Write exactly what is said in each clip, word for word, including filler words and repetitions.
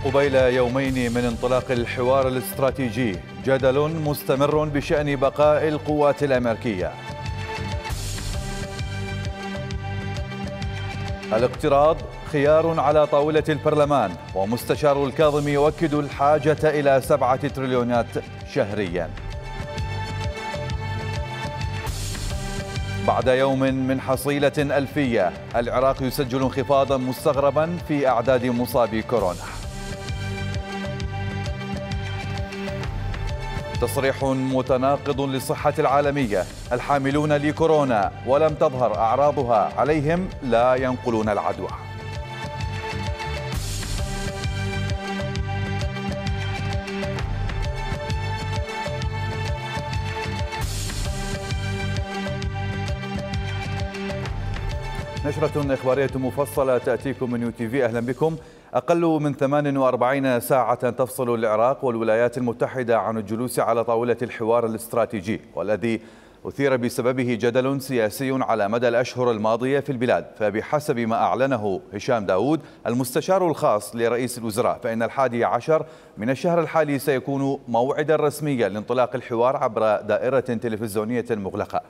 قبيل يومين من انطلاق الحوار الاستراتيجي جدل مستمر بشأن بقاء القوات الأمريكية. الاقتراض خيار على طاولة البرلمان، ومستشار الكاظمي يؤكد الحاجة إلى سبعة تريليونات شهريا. بعد يوم من حصيلة ألفية، العراق يسجل انخفاضا مستغربا في أعداد مصابي كورونا. تصريح متناقض للصحة العالمية: الحاملون لكورونا ولم تظهر أعراضها عليهم لا ينقلون العدوى. نشرة إخبارية مفصلة تأتيكم من يو تي في. أهلا بكم. أقل من ثمان وأربعين ساعة تفصل العراق والولايات المتحدة عن الجلوس على طاولة الحوار الاستراتيجي، والذي أثير بسببه جدل سياسي على مدى الأشهر الماضية في البلاد. فبحسب ما أعلنه هشام داود المستشار الخاص لرئيس الوزراء، فإن الحادي عشر من الشهر الحالي سيكون موعدا رسميا لانطلاق الحوار عبر دائرة تلفزيونية مغلقة.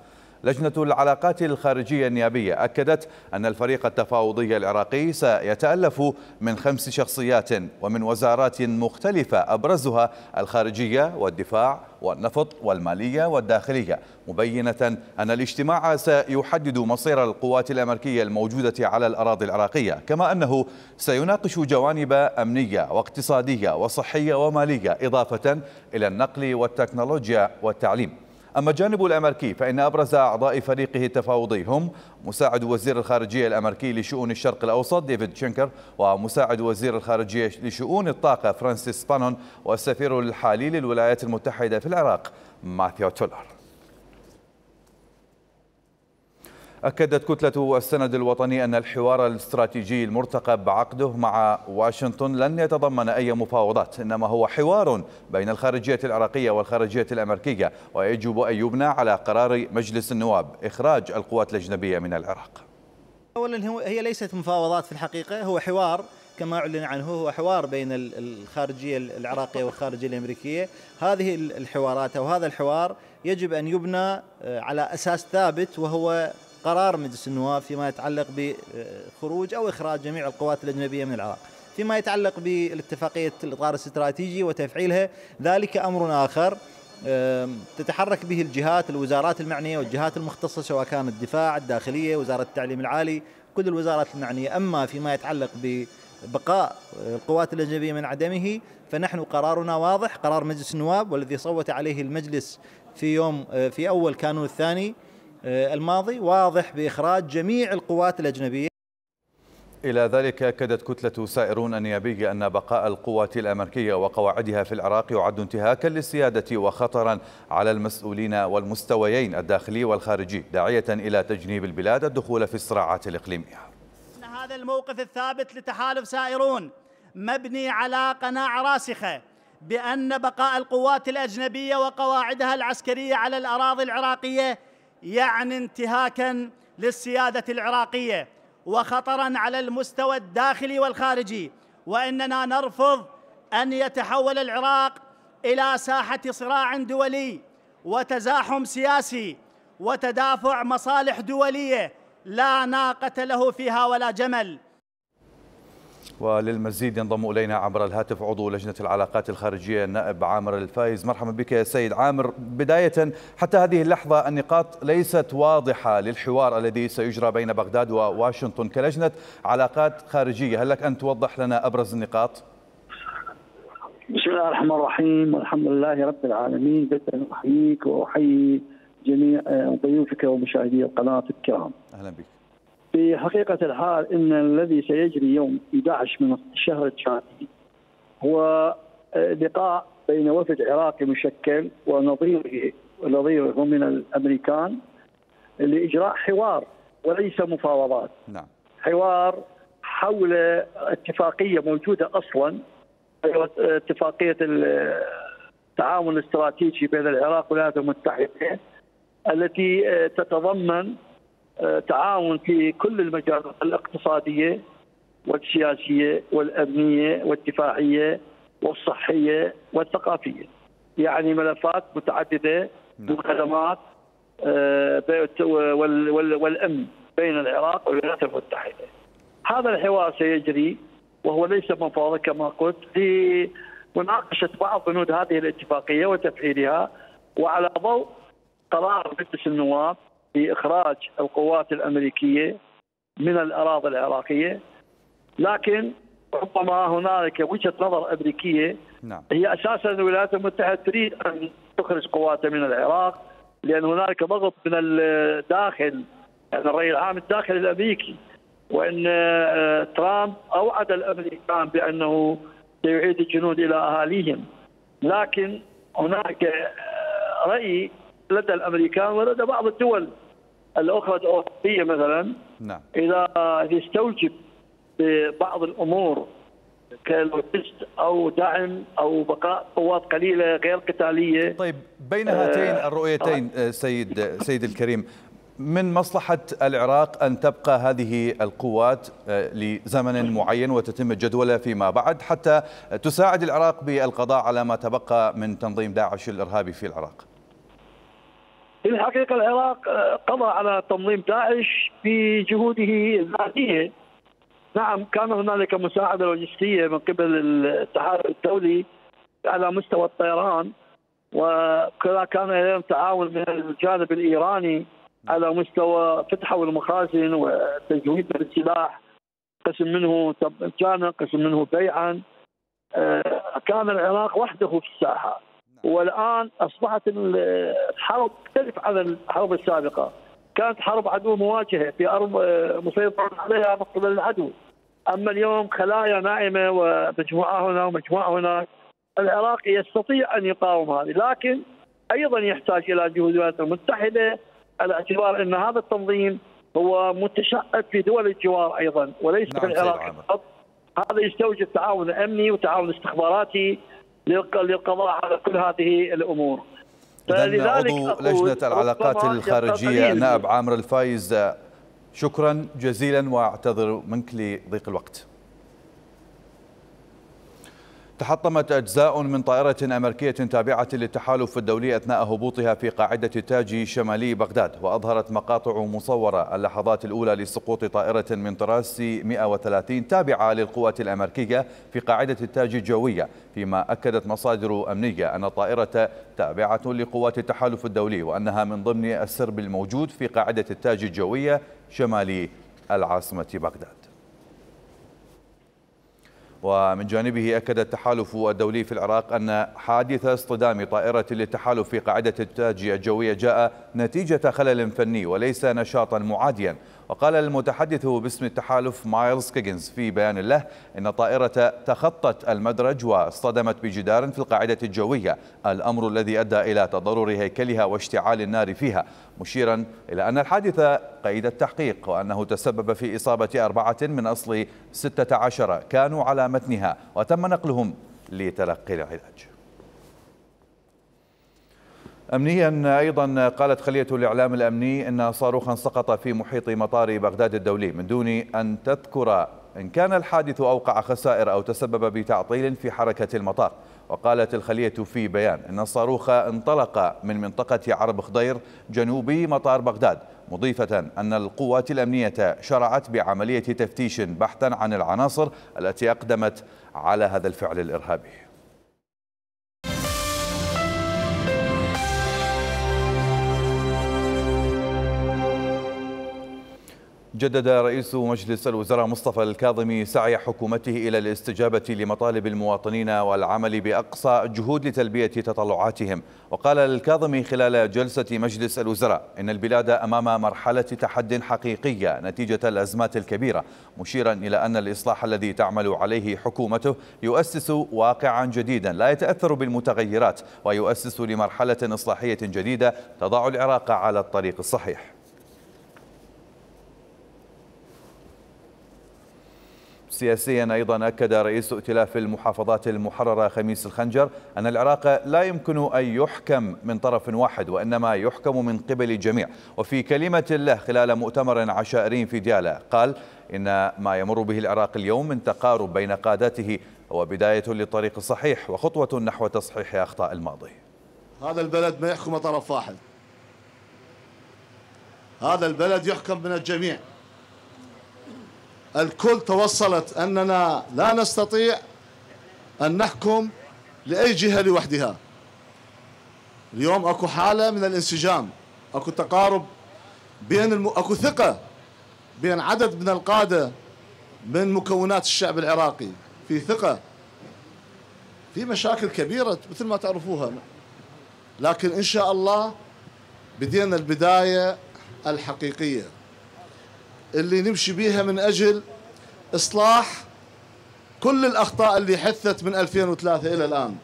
لجنة العلاقات الخارجية النيابية أكدت أن الفريق التفاوضي العراقي سيتألف من خمس شخصيات ومن وزارات مختلفة، أبرزها الخارجية والدفاع والنفط والمالية والداخلية، مبينة أن الاجتماع سيحدد مصير القوات الأمريكية الموجودة على الأراضي العراقية، كما أنه سيناقش جوانب أمنية واقتصادية وصحية ومالية، إضافة إلى النقل والتكنولوجيا والتعليم. أما الجانب الأمريكي فإن أبرز أعضاء فريقه التفاوضي هم مساعد وزير الخارجية الأمريكي لشؤون الشرق الأوسط ديفيد شينكر، ومساعد وزير الخارجية لشؤون الطاقة فرانسيس بانون، والسفير الحالي للولايات المتحدة في العراق ماثيو تولر. أكدت كتلة السند الوطني أن الحوار الاستراتيجي المرتقب عقده مع واشنطن لن يتضمن أي مفاوضات، إنما هو حوار بين الخارجية العراقية والخارجية الأمريكية، ويجب أن يبنى على قرار مجلس النواب إخراج القوات الأجنبية من العراق. أولا هي ليست مفاوضات في الحقيقة، هو حوار كما أعلن عنه، هو حوار بين الخارجية العراقية والخارجية الأمريكية. هذه الحوارات أو هذا الحوار يجب أن يبنى على أساس ثابت، وهو قرار مجلس النواب فيما يتعلق بخروج أو إخراج جميع القوات الأجنبية من العراق. فيما يتعلق بالاتفاقية الإطار الاستراتيجي وتفعيلها، ذلك أمر آخر تتحرك به الجهات الوزارات المعنية والجهات المختصة، سواء كانت الدفاع، الداخلية، وزارة التعليم العالي، كل الوزارات المعنية. أما فيما يتعلق ببقاء القوات الأجنبية من عدمه، فنحن قرارنا واضح، قرار مجلس النواب والذي صوت عليه المجلس في يوم في أول كانون الثاني الماضي، واضح بإخراج جميع القوات الأجنبية. إلى ذلك أكدت كتلة سائرون النيابية أن بقاء القوات الأمريكية وقواعدها في العراق يعد انتهاكا للسيادة وخطرا على المسؤولين والمستويين الداخلي والخارجي، داعية إلى تجنيب البلاد الدخول في الصراعات الإقليمية. هذا الموقف الثابت لتحالف سائرون مبني على قناعة راسخة بأن بقاء القوات الأجنبية وقواعدها العسكرية على الأراضي العراقية يعني انتهاكا للسيادة العراقية وخطرا على المستوى الداخلي والخارجي، وإننا نرفض أن يتحول العراق إلى ساحة صراع دولي وتزاحم سياسي وتدافع مصالح دولية لا ناقة له فيها ولا جمل. وللمزيد ينضم إلينا عبر الهاتف عضو لجنة العلاقات الخارجية النائب عامر الفايز. مرحبا بك يا سيد عامر. بداية، حتى هذه اللحظة النقاط ليست واضحة للحوار الذي سيجرى بين بغداد وواشنطن كلجنة علاقات خارجية، هل لك أن توضح لنا أبرز النقاط؟ بسم الله الرحمن الرحيم، والحمد لله رب العالمين. بدأ أحييك وأحيي جميع ضيوفك ومشاهدي القناة الكرام. أهلا بك. في حقيقة الحال إن الذي سيجري يوم أحد عشر من الشهر الثاني هو لقاء بين وفد عراقي مشكل ونظيره ونظيره من الأمريكان لإجراء حوار وليس مفاوضات. نعم. حوار حول اتفاقية موجودة أصلا، اتفاقية التعاون الاستراتيجي بين العراق والولايات المتحدة، التي تتضمن تعاون في كل المجالات الاقتصادية والسياسية والأمنية والدفاعية والصحية والثقافية، يعني ملفات متعددة وخدمات والأمن بين العراق والولايات المتحدة. هذا الحوار سيجري وهو ليس مفاوضة كما قلت، لمناقشة بعض بنود هذه الاتفاقية وتفعيلها، وعلى ضوء قرار مجلس النواب بإخراج القوات الأمريكية من الأراضي العراقية. لكن ربما هنالك وجهة نظر أمريكية، نعم. هي أساسا الولايات المتحدة تريد أن تخرج قواتها من العراق، لأن هنالك ضغط من الداخل، يعني الرأي العام الداخلي الأمريكي، وأن ترامب أوعد الأمريكان بأنه سيعيد الجنود إلى أهاليهم. لكن هناك رأي لدى الأمريكان ولدى بعض الدول الأخرى الأوروبية مثلا، نعم. إذا يستوجب ببعض الأمور كالوجست أو دعم أو بقاء قوات قليلة غير قتالية. طيب، بين هاتين الرؤيتين سيد سيد الكريم، من مصلحة العراق أن تبقى هذه القوات لزمن معين وتتم الجدولة فيما بعد حتى تساعد العراق بالقضاء على ما تبقى من تنظيم داعش الإرهابي في العراق؟ في الحقيقة العراق قضى على تنظيم داعش في جهوده الذاتية. نعم، كان هنالك مساعدة لوجستية من قبل الاتحاد الدولي على مستوى الطيران، وكذا كان لديهم تعاون من الجانب الإيراني على مستوى فتحوا المخازن وتجويد السلاح، قسم منه مجانا قسم منه بيعا. كان العراق وحده في الساحة، والآن أصبحت الحرب تختلف عن الحرب السابقة. كانت حرب عدو مواجهة في أرض مسيطر عليها من قبل العدو، أما اليوم خلايا نائمة ومجموعة هنا ومجموعة هناك. العراق يستطيع أن يقاوم هذه، لكن أيضا يحتاج إلى جهود الولايات المتحدة، على اعتبار أن هذا التنظيم هو متشعب في دول الجوار أيضا وليس في العراق فقط. هذا يستوجب تعاون أمني وتعاون استخباراتي للقضاء على كل هذه الأمور. إذن عضو لجنة العلاقات الخارجية النائب عامر الفايز، شكرا جزيلا واعتذر منك لضيق الوقت. تحطمت أجزاء من طائرة أمريكية تابعة للتحالف الدولي أثناء هبوطها في قاعدة التاج شمالي بغداد، وأظهرت مقاطع مصورة اللحظات الأولى لسقوط طائرة من طراز مئة وثلاثين تابعة للقوات الأمريكية في قاعدة التاج الجوية، فيما أكدت مصادر أمنية أن الطائرة تابعة لقوات التحالف الدولي وأنها من ضمن السرب الموجود في قاعدة التاج الجوية شمالي العاصمة بغداد. ومن جانبه أكد التحالف الدولي في العراق أن حادث اصطدام طائرة للتحالف في قاعدة التاج الجوية جاء نتيجة خلل فني وليس نشاطا معاديا. وقال المتحدث باسم التحالف مايلز كيجنز في بيان له إن الطائرة تخطت المدرج واصطدمت بجدار في القاعدة الجوية، الأمر الذي أدى إلى تضرر هيكلها واشتعال النار فيها، مشيرا إلى أن الحادث قيد التحقيق وأنه تسبب في إصابة أربعة من أصل ستة عشر كانوا على متنها وتم نقلهم لتلقي العلاج. أمنيا أيضا قالت خلية الإعلام الأمني أن صاروخا سقط في محيط مطار بغداد الدولي من دون أن تذكر إن كان الحادث أوقع خسائر أو تسبب بتعطيل في حركة المطار. وقالت الخلية في بيان أن الصاروخ انطلق من منطقة عرب خضير جنوبي مطار بغداد، مضيفة أن القوات الأمنية شرعت بعملية تفتيش بحثا عن العناصر التي أقدمت على هذا الفعل الإرهابي. جدد رئيس مجلس الوزراء مصطفى الكاظمي سعي حكومته إلى الاستجابة لمطالب المواطنين والعمل بأقصى الجهود لتلبية تطلعاتهم. وقال الكاظمي خلال جلسة مجلس الوزراء إن البلاد أمام مرحلة تحد حقيقية نتيجة الأزمات الكبيرة، مشيرا إلى أن الإصلاح الذي تعمل عليه حكومته يؤسس واقعا جديدا لا يتأثر بالمتغيرات، ويؤسس لمرحلة إصلاحية جديدة تضع العراق على الطريق الصحيح. سياسيا أيضا أكد رئيس ائتلاف المحافظات المحررة خميس الخنجر أن العراق لا يمكن أن يحكم من طرف واحد وإنما يحكم من قبل الجميع. وفي كلمة له خلال مؤتمر عشائري في ديالى قال إن ما يمر به العراق اليوم من تقارب بين قادته هو بداية للطريق الصحيح وخطوة نحو تصحيح أخطاء الماضي. هذا البلد ما يحكم طرف واحد، هذا البلد يحكم من الجميع. الكل توصلت أننا لا نستطيع أن نحكم لأي جهة لوحدها. اليوم أكو حالة من الانسجام، أكو تقارب بين الم... أكو ثقة بين عدد من القادة من مكونات الشعب العراقي، في ثقة. في مشاكل كبيرة مثل ما تعرفوها، لكن إن شاء الله بدينا البداية الحقيقية اللي نمشي بيها من أجل إصلاح كل الأخطاء اللي حدثت من ألفين وثلاثة إلى الآن.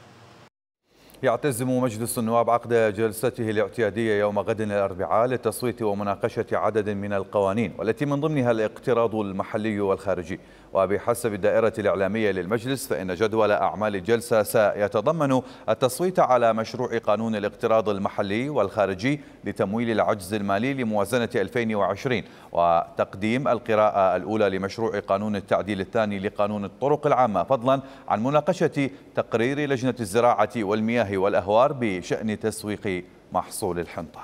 يعتزم مجلس النواب عقد جلسته الاعتيادية يوم غد الأربعاء للتصويت ومناقشة عدد من القوانين والتي من ضمنها الاقتراض المحلي والخارجي. وبحسب الدائرة الإعلامية للمجلس فإن جدول أعمال الجلسة سيتضمن التصويت على مشروع قانون الاقتراض المحلي والخارجي لتمويل العجز المالي لموازنة ألفين وعشرين، وتقديم القراءة الأولى لمشروع قانون التعديل الثاني لقانون الطرق العامة، فضلا عن مناقشة تقرير لجنة الزراعة والمياه والأهوار بشأن تسويق محصول الحنطة.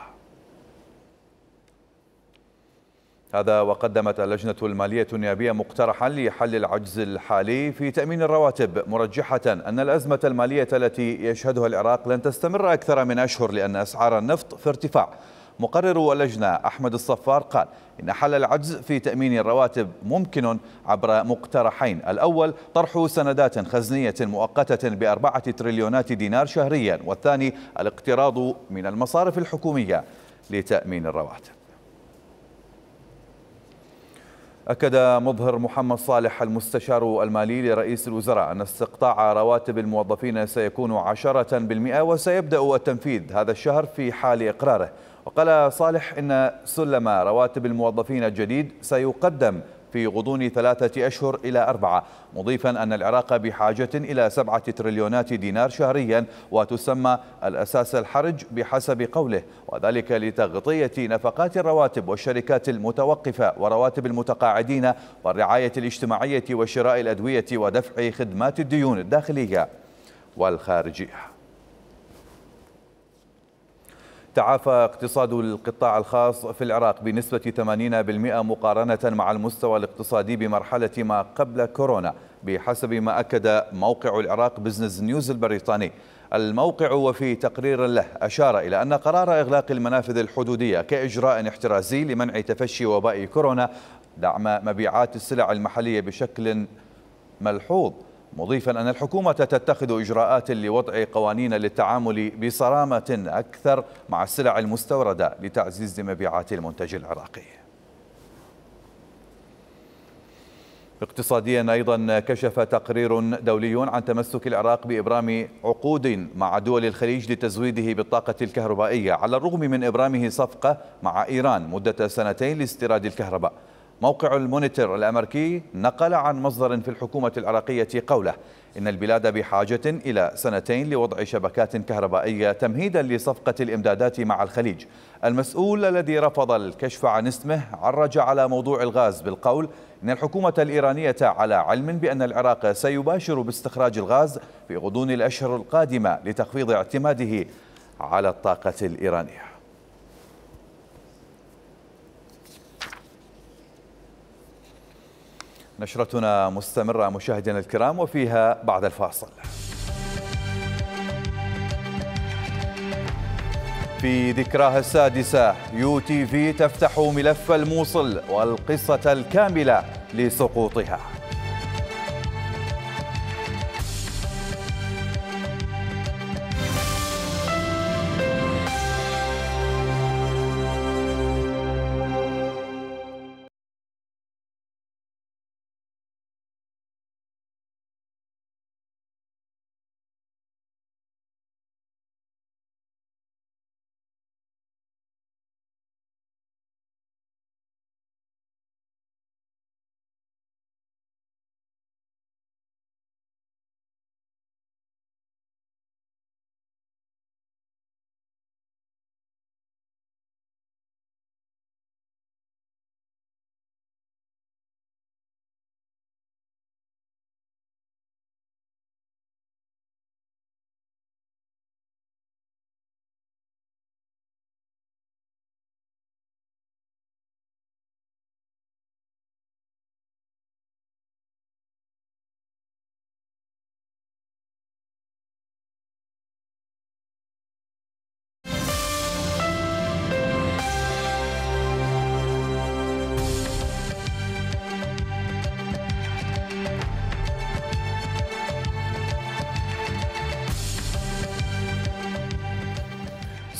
هذا وقدمت اللجنة المالية النيابية مقترحا لحل العجز الحالي في تأمين الرواتب، مرجحة أن الأزمة المالية التي يشهدها العراق لن تستمر أكثر من أشهر لأن أسعار النفط في ارتفاع. مقرر اللجنة أحمد الصفار قال إن حل العجز في تأمين الرواتب ممكن عبر مقترحين: الأول طرح سندات خزنية مؤقتة بأربعة تريليونات دينار شهريا، والثاني الاقتراض من المصارف الحكومية لتأمين الرواتب. أكد مظهر محمد صالح المستشار المالي لرئيس الوزراء أن استقطاع رواتب الموظفين سيكون عشرة بالمئة وسيبدأ التنفيذ هذا الشهر في حال إقراره. وقال صالح إن سلم رواتب الموظفين الجديد سيقدم في غضون ثلاثة أشهر إلى أربعة، مضيفا أن العراق بحاجة إلى سبعة تريليونات دينار شهريا وتسمى الأساس الحرج بحسب قوله، وذلك لتغطية نفقات الرواتب والشركات المتوقفة ورواتب المتقاعدين والرعاية الاجتماعية وشراء الأدوية ودفع خدمات الديون الداخلية والخارجية. تعافى اقتصاد القطاع الخاص في العراق بنسبة ثمانين بالمئة مقارنة مع المستوى الاقتصادي بمرحلة ما قبل كورونا بحسب ما أكد موقع العراق بزنس نيوز البريطاني. الموقع وفي تقرير له أشار إلى أن قرار إغلاق المنافذ الحدودية كإجراء احترازي لمنع تفشي وباء كورونا دعم مبيعات السلع المحلية بشكل ملحوظ، مضيفا أن الحكومة تتخذ إجراءات لوضع قوانين للتعامل بصرامة أكثر مع السلع المستوردة لتعزيز مبيعات المنتج العراقي. اقتصاديا أيضا كشف تقرير دولي عن تمسك العراق بإبرام عقود مع دول الخليج لتزويده بالطاقة الكهربائية على الرغم من إبرامه صفقة مع إيران مدة سنتين لاستيراد الكهرباء. موقع المونيتور الأمريكي نقل عن مصدر في الحكومة العراقية قوله إن البلاد بحاجة إلى سنتين لوضع شبكات كهربائية تمهيدا لصفقة الإمدادات مع الخليج. المسؤول الذي رفض الكشف عن اسمه عرج على موضوع الغاز بالقول إن الحكومة الإيرانية على علم بأن العراق سيباشر باستخراج الغاز في غضون الأشهر القادمة لتخفيض اعتماده على الطاقة الإيرانية. نشرتنا مستمرة مشاهدينا الكرام وفيها بعد الفاصل. في ذكراها السادسة يو تي في تفتح ملف الموصل والقصة الكاملة لسقوطها.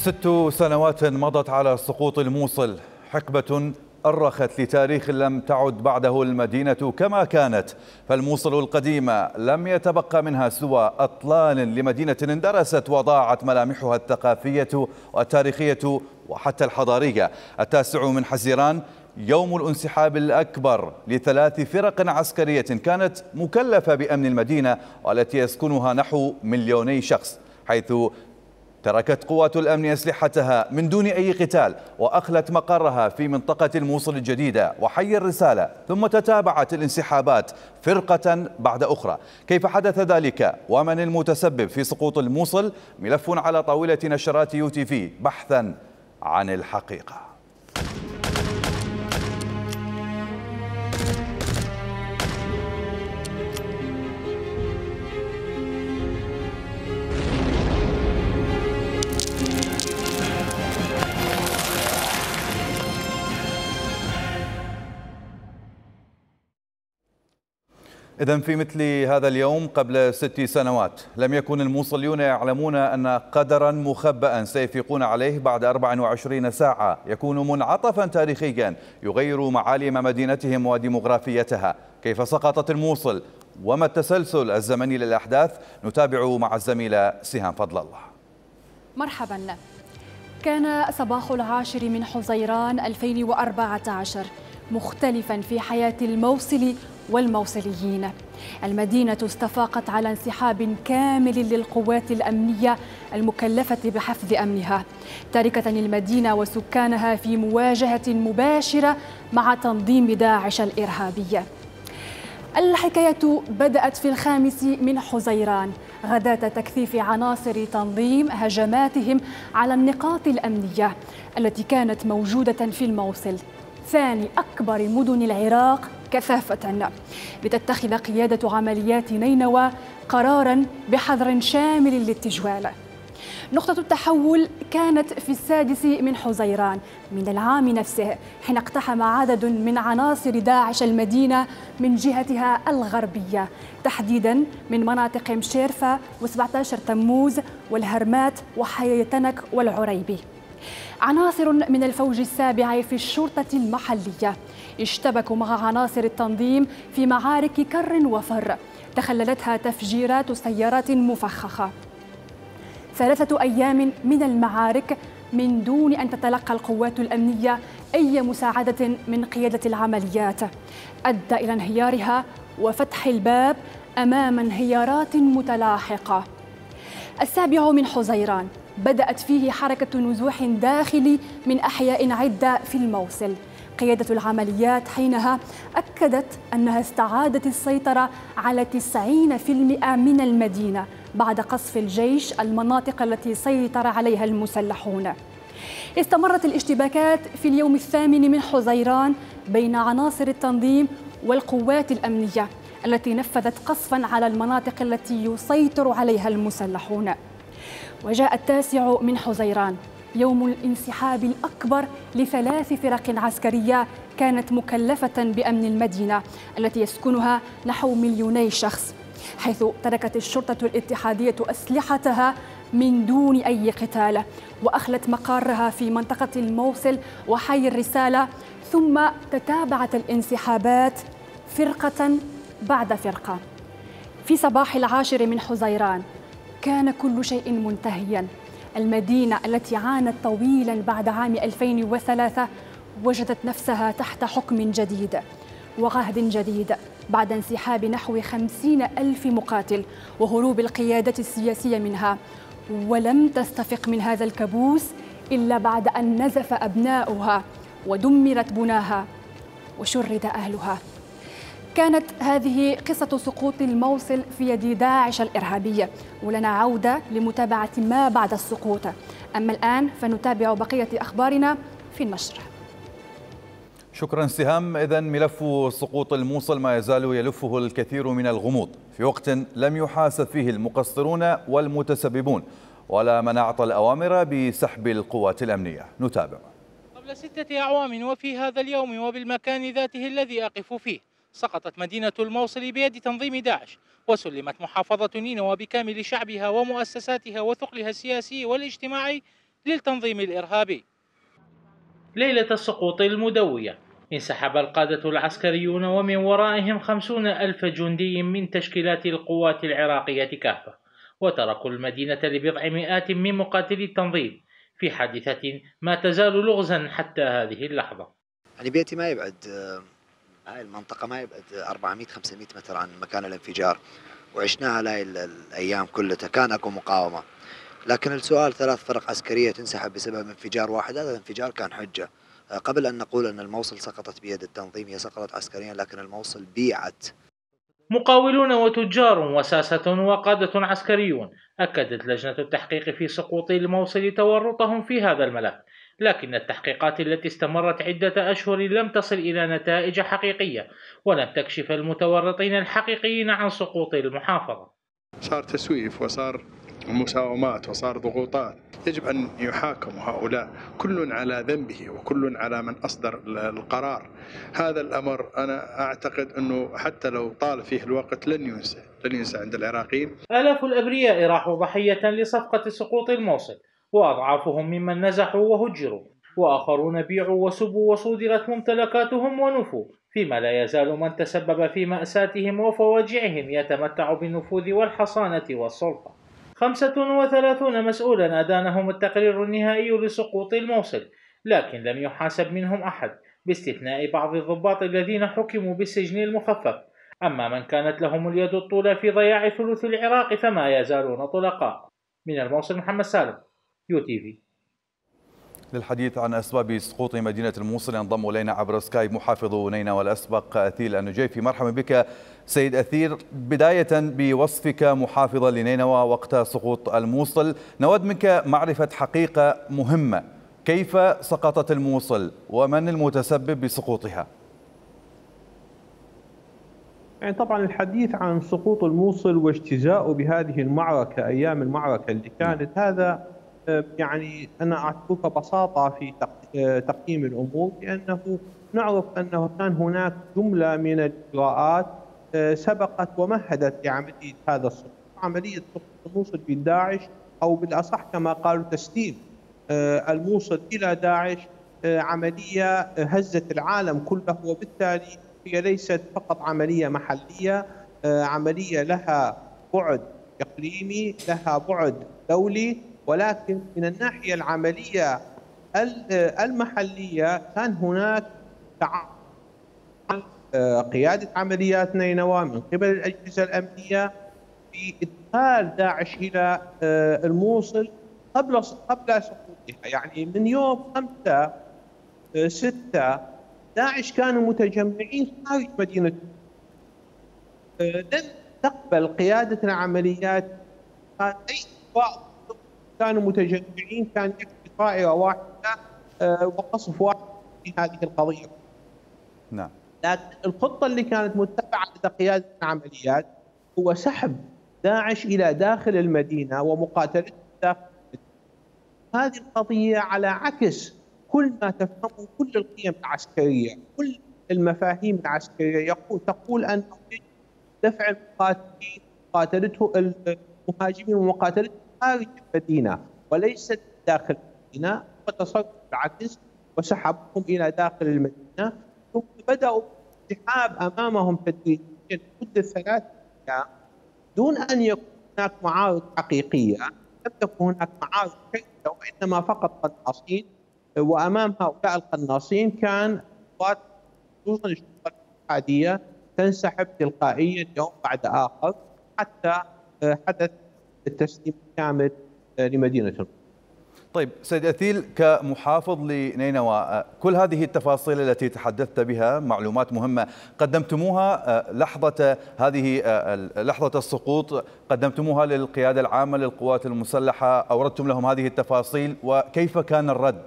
ست سنوات مضت على سقوط الموصل، حقبة أرخت لتاريخ لم تعد بعده المدينة كما كانت، فالموصل القديمة لم يتبقى منها سوى أطلال لمدينة اندرست وضاعت ملامحها الثقافية والتاريخية وحتى الحضارية. التاسع من حزيران يوم الانسحاب الأكبر لثلاث فرق عسكرية كانت مكلفة بأمن المدينة والتي يسكنها نحو مليوني شخص، حيث تركت قوات الأمن أسلحتها من دون أي قتال وأخلت مقرها في منطقة الموصل الجديدة وحي الرسالة، ثم تتابعت الانسحابات فرقة بعد أخرى. كيف حدث ذلك ومن المتسبب في سقوط الموصل؟ ملف على طاولة نشرات يو تي في بحثا عن الحقيقة. إذن في مثل هذا اليوم قبل ست سنوات لم يكن الموصليون يعلمون أن قدرا مخبأ سيفيقون عليه بعد أربع وعشرين ساعة يكون منعطفا تاريخيا يغير معالم مدينتهم وديمغرافيتها. كيف سقطت الموصل وما التسلسل الزمني للأحداث؟ نتابع مع الزميلة سهام فضل الله. مرحبا. كان صباح العاشر من حزيران ألفين وأربعة عشر مختلفا في حياة الموصل والموصليين. المدينة استفاقت على انسحاب كامل للقوات الأمنية المكلفة بحفظ أمنها، تاركة المدينة وسكانها في مواجهة مباشرة مع تنظيم داعش الإرهابي. الحكاية بدأت في الخامس من حزيران غداة تكثيف عناصر تنظيم هجماتهم على النقاط الأمنية التي كانت موجودة في الموصل، ثاني أكبر مدن العراق كثافة، لتتخذ قيادة عمليات نينوى قراراً بحظر شامل للتجوال. نقطة التحول كانت في السادس من حزيران من العام نفسه، حين اقتحم عدد من عناصر داعش المدينة من جهتها الغربية، تحديداً من مناطق مشيرفة وسبعة عشر تموز والهرمات وحي تنك والعريبي. عناصر من الفوج السابع في الشرطة المحلية اشتبكوا مع عناصر التنظيم في معارك كر وفر تخللتها تفجيرات سيارات مفخخة. ثلاثة أيام من المعارك من دون أن تتلقى القوات الأمنية أي مساعدة من قيادة العمليات، أدى إلى انهيارها وفتح الباب أمام انهيارات متلاحقة. السابع من حزيران بدأت فيه حركة نزوح داخلي من أحياء عدة في الموصل. قيادة العمليات حينها أكدت أنها استعادت السيطرة على تسعين بالمئة من المدينة بعد قصف الجيش المناطق التي سيطر عليها المسلحون. استمرت الاشتباكات في اليوم الثامن من حزيران بين عناصر التنظيم والقوات الأمنية التي نفذت قصفا على المناطق التي يسيطر عليها المسلحون. وجاء التاسع من حزيران يوم الانسحاب الأكبر لثلاث فرق عسكرية كانت مكلفة بأمن المدينة التي يسكنها نحو مليوني شخص، حيث تركت الشرطة الاتحادية أسلحتها من دون أي قتال وأخلت مقرها في منطقة الموصل وحي الرسالة، ثم تتابعت الانسحابات فرقة بعد فرقة. في صباح العاشر من حزيران كان كل شيء منتهياً. المدينة التي عانت طويلاً بعد عام ألفين وثلاثة وجدت نفسها تحت حكم جديد وعهد جديد بعد انسحاب نحو خمسين ألف مقاتل وهروب القيادة السياسية منها، ولم تستفق من هذا الكابوس إلا بعد أن نزف أبناؤها ودمرت بناها وشرد أهلها. كانت هذه قصة سقوط الموصل في يد داعش الإرهابية، ولنا عودة لمتابعة ما بعد السقوط. أما الآن فنتابع بقية أخبارنا في النشر. شكرا سهام. إذن ملف سقوط الموصل ما يزال يلفه الكثير من الغموض في وقت لم يحاسب فيه المقصرون والمتسببون ولا من أعطى الأوامر بسحب القوات الأمنية. نتابع. قبل ستة أعوام وفي هذا اليوم وبالمكان ذاته الذي أقف فيه سقطت مدينة الموصل بيد تنظيم داعش، وسلمت محافظة نينوى بكامل شعبها ومؤسساتها وثقلها السياسي والاجتماعي للتنظيم الإرهابي. ليلة السقوط المدوية انسحب القادة العسكريون ومن ورائهم خمسون ألف جندي من تشكيلات القوات العراقية كافة، وتركوا المدينة لبضع مئات من مقاتلي التنظيم في حادثة ما تزال لغزا حتى هذه اللحظة. يعني بيتي ما يبعد، هاي المنطقة ما يبعد أربعمئة خمسمئة متر عن مكان الانفجار، وعشناها هاي الأيام كلها كان أكو مقاومة. لكن السؤال، ثلاث فرق عسكرية تنسحب بسبب انفجار واحد، هذا الانفجار كان حجة. قبل أن نقول أن الموصل سقطت بيد التنظيم، هي سقطت عسكريا لكن الموصل بيعت. مقاولون وتجار وساسة وقادة عسكريون أكدت لجنة التحقيق في سقوط الموصل تورطهم في هذا الملف، لكن التحقيقات التي استمرت عدة أشهر لم تصل إلى نتائج حقيقية ولم تكشف المتورطين الحقيقيين عن سقوط المحافظة. صار تسويف وصار مساومات وصار ضغوطات، يجب أن يحاكموا هؤلاء كل على ذنبه وكل على من أصدر القرار. هذا الأمر أنا أعتقد أنه حتى لو طال فيه الوقت لن ينسى لن ينسى عند العراقيين. آلاف الأبرياء راحوا ضحية لصفقة سقوط الموصل، وأضعافهم ممن نزحوا وهجروا، وآخرون بيعوا وسبوا وصودرت ممتلكاتهم ونفوا، فيما لا يزال من تسبب في مأساتهم وفواجعهم يتمتع بالنفوذ والحصانة والسلطة. خمسة وثلاثون مسؤولا أدانهم التقرير النهائي لسقوط الموصل، لكن لم يحاسب منهم أحد باستثناء بعض الضباط الذين حكموا بالسجن المخفف. أما من كانت لهم اليد الطولى في ضياع ثلث العراق فما يزالون طلقاء. من الموصل محمد سالم، يو تي في. للحديث عن أسباب سقوط مدينة الموصل ينضم إلينا عبر سكايب محافظ نينوى الأسبق أثيل النجيفي. مرحبا بك سيد أثير. بداية بوصفك محافظا لنينوى وقت سقوط الموصل، نود منك معرفة حقيقة مهمة: كيف سقطت الموصل ومن المتسبب بسقوطها؟ يعني طبعا الحديث عن سقوط الموصل واجتزاؤه بهذه المعركة، أيام المعركة اللي كانت، هذا يعني أنا أعتبره ببساطة في تقييم الأمور، لأنه نعرف أنه كان هناك جملة من الإجراءات سبقت ومهدت لعملية هذا السقوط، عملية سقوط الموصل بالداعش، أو بالأصح كما قالوا تسليم الموصل إلى داعش، عملية هزت العالم كله، وبالتالي هي ليست فقط عملية محلية، عملية لها بعد إقليمي، لها بعد دولي، ولكن من الناحية العملية المحلية كان هناك قيادة عمليات نينوى من قبل الأجهزة الأمنية في إدخال داعش إلى الموصل قبل قبل سقوطها. يعني من يوم خمسة ستة داعش كانوا متجمعين خارج مدينة، لم تقبل قيادة العمليات أي إطفاء، كانوا متجمعين، كان يكفي طائرة واحدة وقصف واحد في هذه القضية. نعم. لكن الخطة اللي كانت متبعة لدى قيادة العمليات هو سحب داعش إلى داخل المدينة ومقاتلته داخل المدينة. هذه القضية على عكس كل ما تفهمه كل القيم العسكرية، كل المفاهيم العسكرية يقول تقول أنه يجب دفع المقاتلين مقاتلته المهاجمين ومقاتلته خارج المدينة وليست داخل المدينة، وتصرف بالعكس وسحبهم إلى داخل المدينة، ثم بدأوا الانسحاب أمامهم تدريجيا لمدة ثلاث أيام دون أن يكون هناك معارض حقيقية. لم تكن هناك معارض شديدة وإنما فقط قناصين، وأمام هؤلاء القناصين كان قوات خصوصا الشرطة الاتحادية تنسحب تلقائيا يوم بعد آخر حتى حدث التسليم الكامل لمدينة الموصل. طيب سيد أثيل، كمحافظ لنينوى، كل هذه التفاصيل التي تحدثت بها معلومات مهمة قدمتموها لحظة هذه لحظة السقوط، قدمتموها للقيادة العامة للقوات المسلحة، أوردتم لهم هذه التفاصيل، وكيف كان الرد؟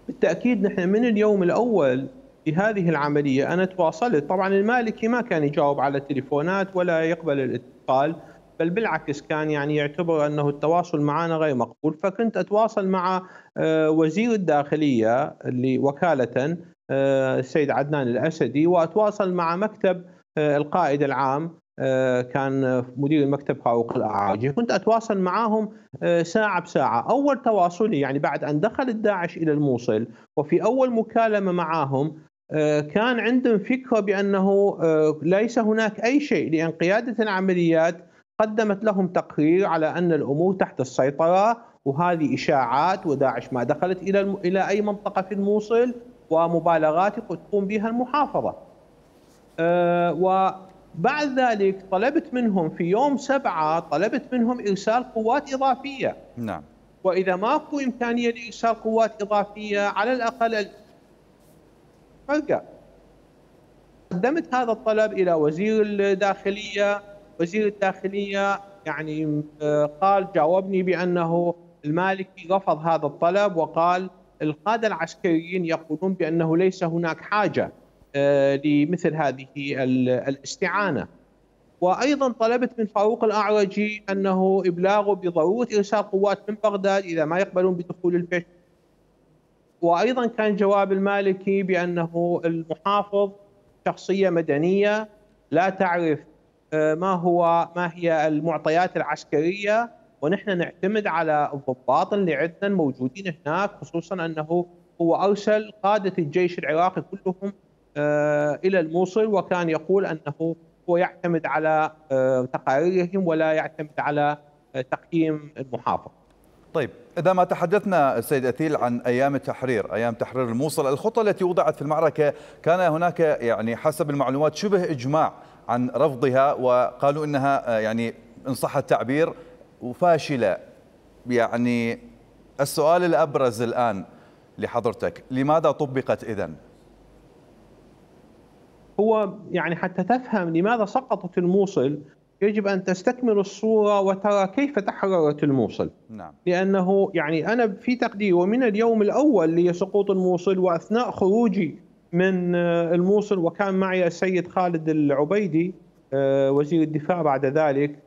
بالتأكيد نحن من اليوم الأول في هذه العملية أنا تواصلت. طبعا المالكي ما كان يجاوب على التليفونات ولا يقبل الاتصال، بل بالعكس كان يعني يعتبر أنه التواصل معنا غير مقبول، فكنت أتواصل مع وزير الداخلية اللي وكالة السيد عدنان الأسدي، وأتواصل مع مكتب القائد العام كان مدير المكتب فاروق الأعراجي، كنت أتواصل معهم ساعة بساعة. أول تواصلي يعني بعد أن دخل الداعش إلى الموصل وفي أول مكالمة معهم كان عندهم فكرة بأنه ليس هناك أي شيء، لأن قيادة العمليات قدمت لهم تقرير على أن الأمور تحت السيطرة وهذه إشاعات وداعش ما دخلت إلى إلى أي منطقة في الموصل ومبالغات تقوم بها المحافظة. وبعد ذلك طلبت منهم في يوم سبعة طلبت منهم إرسال قوات إضافية. نعم. وإذا ماكو إمكانية لإرسال قوات إضافية على الأقل فرقة. قدمت هذا الطلب إلى وزير الداخلية، وزير الداخلية يعني قال جاوبني بأنه المالكي رفض هذا الطلب وقال القادة العسكريين يقولون بأنه ليس هناك حاجة لمثل هذه الاستعانة. وأيضا طلبت من فاروق الأعرجي أنه إبلاغه بضرورة إرسال قوات من بغداد إذا ما يقبلون بدخول البيت. وأيضا كان جواب المالكي بأنه المحافظ شخصية مدنية لا تعرف ما هو ما هي المعطيات العسكرية، ونحن نعتمد على الضباط اللي عندنا موجودين هناك، خصوصا أنه هو أرسل قادة الجيش العراقي كلهم إلى الموصل، وكان يقول أنه هو يعتمد على تقاريرهم ولا يعتمد على تقييم المحافظ. طيب، إذا ما تحدثنا سيد أثيل عن أيام التحرير، أيام تحرير الموصل، الخطة التي وضعت في المعركة كان هناك يعني حسب المعلومات شبه إجماع عن رفضها، وقالوا إنها يعني إن صح التعبير وفاشلة. يعني السؤال الأبرز الآن لحضرتك، لماذا طبقت إذن؟ هو يعني حتى تفهم لماذا سقطت الموصل يجب أن تستكمل الصورة وترى كيف تحررت الموصل. نعم. لأنه يعني أنا في تقديري ومن اليوم الأول لسقوط الموصل وأثناء خروجي من الموصل، وكان معي السيد خالد العبيدي وزير الدفاع بعد ذلك،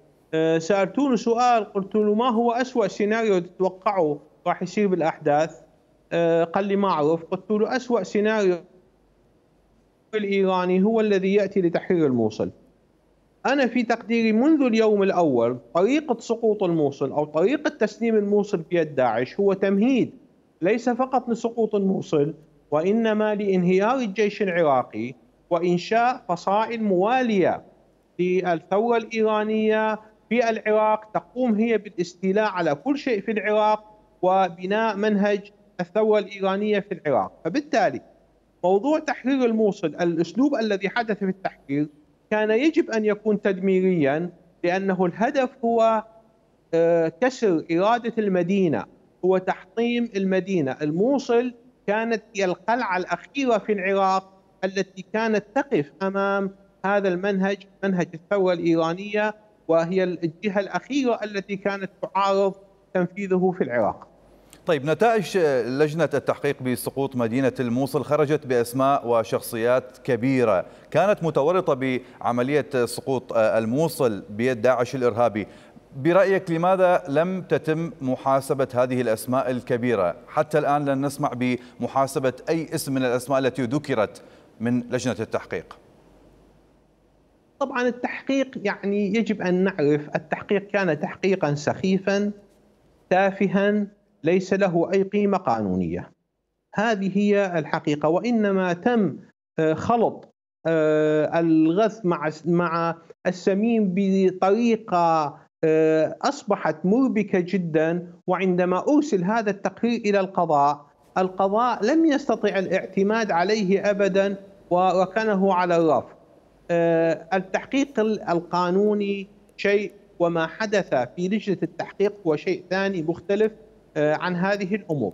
سألتوني سؤال قلت له ما هو أسوأ سيناريو تتوقعه راح يصير بالأحداث؟ قال لي ما أعرف. قلت له أسوأ سيناريو الإيراني هو الذي يأتي لتحرير الموصل. أنا في تقديري منذ اليوم الأول طريقة سقوط الموصل أو طريقة تسليم الموصل بيد داعش هو تمهيد ليس فقط لسقوط الموصل، وإنما لانهيار الجيش العراقي وإنشاء فصائل موالية للثورة الإيرانية في العراق تقوم هي بالاستيلاء على كل شيء في العراق وبناء منهج الثورة الإيرانية في العراق. فبالتالي موضوع تحرير الموصل، الأسلوب الذي حدث في التحرير كان يجب أن يكون تدميريا، لأنه الهدف هو كسر إرادة المدينة، هو تحطيم المدينة. الموصل كانت هي القلعة الأخيرة في العراق التي كانت تقف أمام هذا المنهج، منهج الثورة الإيرانية، وهي الجهة الأخيرة التي كانت تعارض تنفيذه في العراق. طيب، نتائج لجنة التحقيق بسقوط مدينة الموصل خرجت بأسماء وشخصيات كبيرة كانت متورطة بعملية سقوط الموصل بيد داعش الإرهابي. برأيك لماذا لم تتم محاسبة هذه الأسماء الكبيرة؟ حتى الآن لن نسمع بمحاسبة أي اسم من الأسماء التي ذكرت من لجنة التحقيق. طبعا التحقيق يعني يجب أن نعرف التحقيق كان تحقيقا سخيفا تافها ليس له أي قيمة قانونية. هذه هي الحقيقة، وإنما تم خلط الغث مع مع السمين بطريقة أصبحت مربكة جدا. وعندما أرسل هذا التقرير إلى القضاء، القضاء لم يستطع الاعتماد عليه أبدا وركنه على الرف. التحقيق القانوني شيء، وما حدث في لجنة التحقيق هو شيء ثاني مختلف عن هذه الأمور.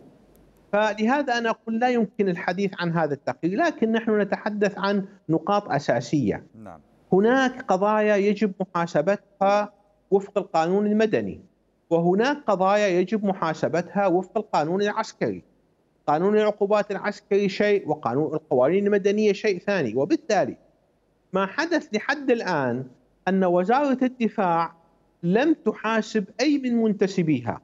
فلهذا أنا أقول لا يمكن الحديث عن هذا التقرير، لكن نحن نتحدث عن نقاط أساسية. نعم. هناك قضايا يجب محاسبتها وفق القانون المدني، وهناك قضايا يجب محاسبتها وفق القانون العسكري. قانون العقوبات العسكري شيء، وقانون القوانين المدنية شيء ثاني. وبالتالي ما حدث لحد الآن أن وزارة الدفاع لم تحاسب أي من منتسبيها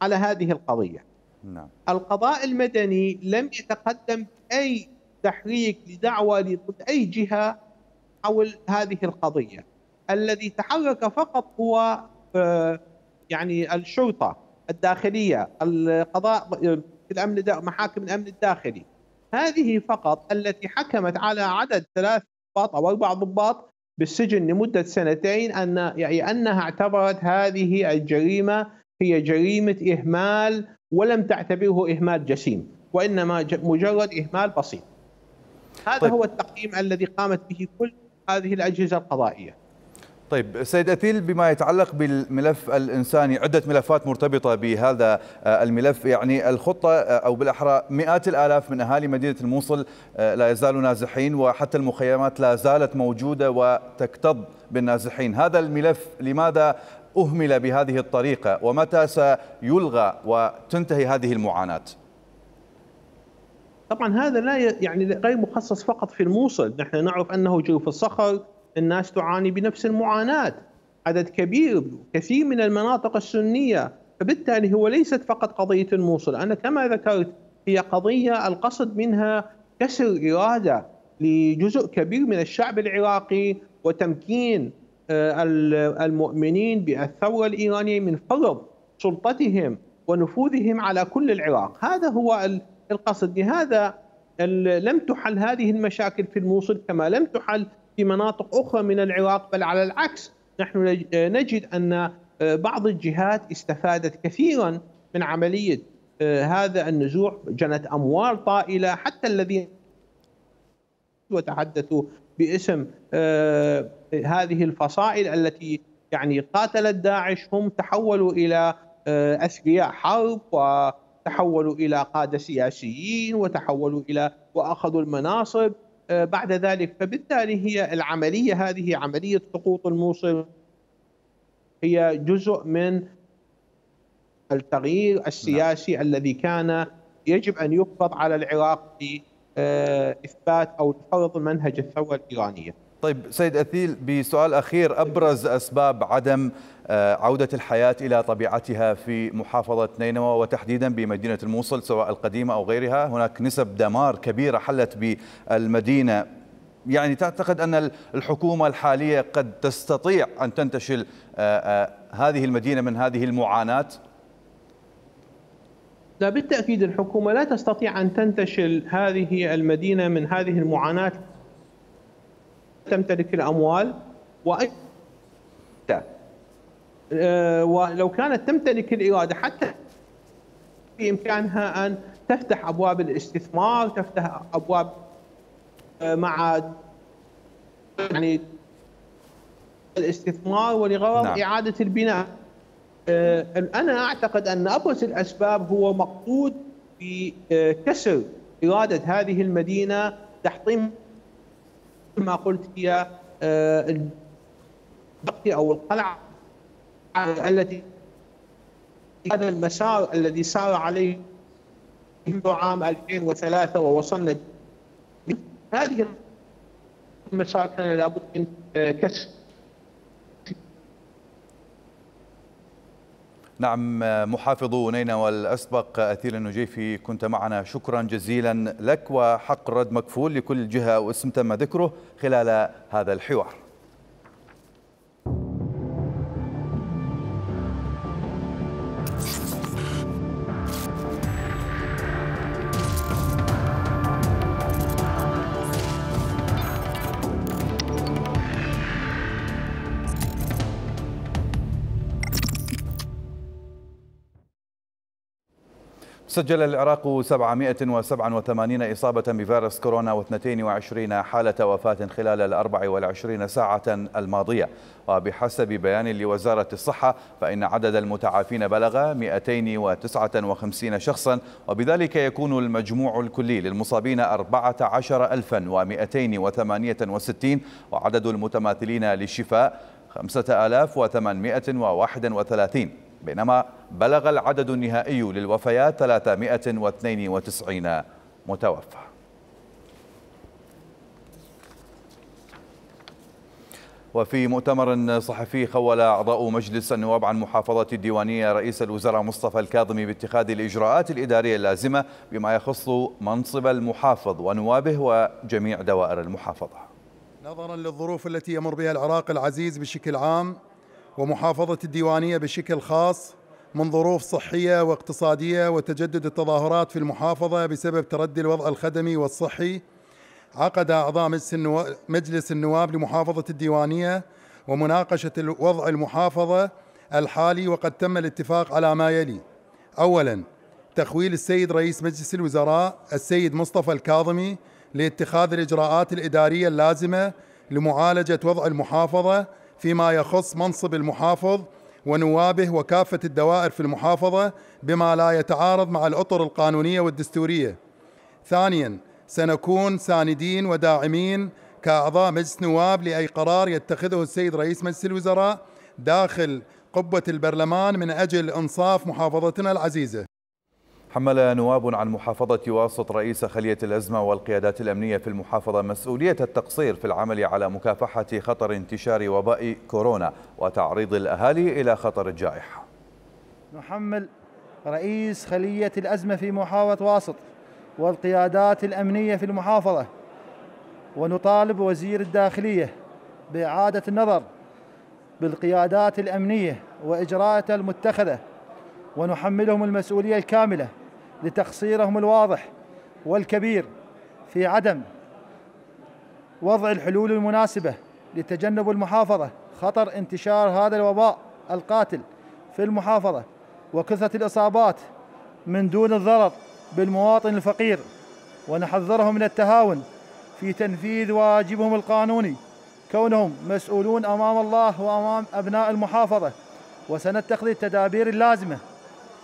على هذه القضية. نعم. القضاء المدني لم يتقدم أي تحريك لدعوة ضد أي جهة حول هذه القضية. الذي تحرك فقط هو يعني الشرطة الداخلية، القضاء، الأمن، محاكم الأمن الداخلي، هذه فقط التي حكمت على عدد ثلاث ضباط أو أربع ضباط بالسجن لمدة سنتين، أن يعني أنها اعتبرت هذه الجريمة هي جريمة إهمال ولم تعتبره إهمال جسيم، وإنما مجرد إهمال بسيط. هذا طيب. هو التقييم الذي قامت به كل هذه الأجهزة القضائية. طيب سيد أثيل، بما يتعلق بالملف الإنساني، عدة ملفات مرتبطة بهذا الملف، يعني الخطة أو بالأحرى مئات الآلاف من أهالي مدينة الموصل لا يزالوا نازحين، وحتى المخيمات لا زالت موجودة وتكتظ بالنازحين. هذا الملف لماذا أهمل بهذه الطريقة، ومتى سيلغى وتنتهي هذه المعاناة؟ طبعا هذا لا يعني غير مخصص فقط في الموصل، نحن نعرف أنه جوف الصخر الناس تعاني بنفس المعاناة، عدد كبير كثير من المناطق السنية، فبالتالي هو ليست فقط قضية الموصل. أنا كما ذكرت هي قضية القصد منها كسر إرادة لجزء كبير من الشعب العراقي وتمكين المؤمنين بالثورة الإيرانية من فرض سلطتهم ونفوذهم على كل العراق. هذا هو القصد. لهذا لم تحل هذه المشاكل في الموصل كما لم تحل في مناطق أخرى من العراق، بل على العكس نحن نجد أن بعض الجهات استفادت كثيرا من عملية هذا النزوح، جنت أموال طائلة، حتى الذين وتحدثوا باسم هذه الفصائل التي يعني قاتلت داعش هم تحولوا إلى أثرياء حرب، وتحولوا إلى قادة سياسيين، وتحولوا إلى وأخذوا المناصب بعد ذلك. فبالتالي هي العملية هذه عملية سقوط الموصل هي جزء من التغيير السياسي نعم. الذي كان يجب أن يفرض على العراق بإثبات أو فرض منهج الثورة الإيرانية. طيب سيد أثيل، بسؤال أخير، أبرز أسباب عدم عودة الحياة إلى طبيعتها في محافظة نينوى وتحديدا بمدينة الموصل سواء القديمة أو غيرها؟ هناك نسب دمار كبيرة حلت بالمدينة، يعني تعتقد أن الحكومة الحالية قد تستطيع أن تنتشل هذه المدينة من هذه المعاناة؟ لا بالتأكيد الحكومة لا تستطيع أن تنتشل هذه المدينة من هذه المعاناة، تمتلك الأموال وأي ولو كانت تمتلك الإرادة حتى بإمكانها أن تفتح أبواب الاستثمار، تفتح أبواب مع يعني الاستثمار ولغرض نعم. إعادة البناء. أنا أعتقد أن أبرز الأسباب هو مقصود بكسر إرادة هذه المدينة، تحطيم ما قلت هي أو القلعة التي هذا المسار الذي سار عليه منذ عام ألفين وثلاثة ووصلنا هذه المسار كان لابد من كسر. نعم، محافظ نينوى الأسبق أثيل النجيفي كنت معنا، شكرا جزيلا لك، وحق الرد مكفول لكل جهة واسم تم ذكره خلال هذا الحوار. سجل العراق سبعمئة وسبعة وثمانين إصابة بفيروس كورونا واثنتين وعشرين حالة وفاة خلال الأربع والعشرين ساعة الماضية، وبحسب بيان لوزارة الصحة فإن عدد المتعافين بلغ مئتين وتسعة وخمسين شخصا، وبذلك يكون المجموع الكلي للمصابين أربعة عشر ألفا ومئتين وثمانية وستين، وعدد المتماثلين للشفاء خمسة آلاف وثمانمئة وواحد وثلاثين، بينما بلغ العدد النهائي للوفيات ثلاثمئة واثنين وتسعين متوفى. وفي مؤتمر صحفي خول أعضاء مجلس النواب عن محافظة الديوانية رئيس الوزراء مصطفى الكاظمي باتخاذ الإجراءات الإدارية اللازمة بما يخص منصب المحافظ ونوابه وجميع دوائر المحافظة. نظرا للظروف التي يمر بها العراق العزيز بشكل عام ومحافظة الديوانية بشكل خاص من ظروف صحية واقتصادية وتجدد التظاهرات في المحافظة بسبب تردي الوضع الخدمي والصحي، عقد أعضاء مجلس النواب لمحافظة الديوانية ومناقشة وضع المحافظة الحالي، وقد تم الاتفاق على ما يلي: أولاً، تخويل السيد رئيس مجلس الوزراء السيد مصطفى الكاظمي لاتخاذ الإجراءات الإدارية اللازمة لمعالجة وضع المحافظة فيما يخص منصب المحافظ ونوابه وكافة الدوائر في المحافظة بما لا يتعارض مع الأطر القانونية والدستورية. ثانياً، سنكون ساندين وداعمين كأعضاء مجلس نواب لأي قرار يتخذه السيد رئيس مجلس الوزراء داخل قبة البرلمان من أجل إنصاف محافظتنا العزيزة. حمل نواب عن محافظة واسط رئيس خلية الأزمة والقيادات الأمنية في المحافظة مسؤولية التقصير في العمل على مكافحة خطر انتشار وباء كورونا وتعريض الأهالي إلى خطر الجائحة. نحمل رئيس خلية الأزمة في محافظة واسط والقيادات الأمنية في المحافظة ونطالب وزير الداخلية بإعادة النظر بالقيادات الأمنية وإجراءاتها المتخذة، ونحملهم المسؤولية الكاملة لتقصيرهم الواضح والكبير في عدم وضع الحلول المناسبة لتجنب المحافظة خطر انتشار هذا الوباء القاتل في المحافظة وكثرة الإصابات من دون الضرر بالمواطن الفقير، ونحذرهم من التهاون في تنفيذ واجبهم القانوني كونهم مسؤولون أمام الله وأمام أبناء المحافظة، وسنتخذ التدابير اللازمة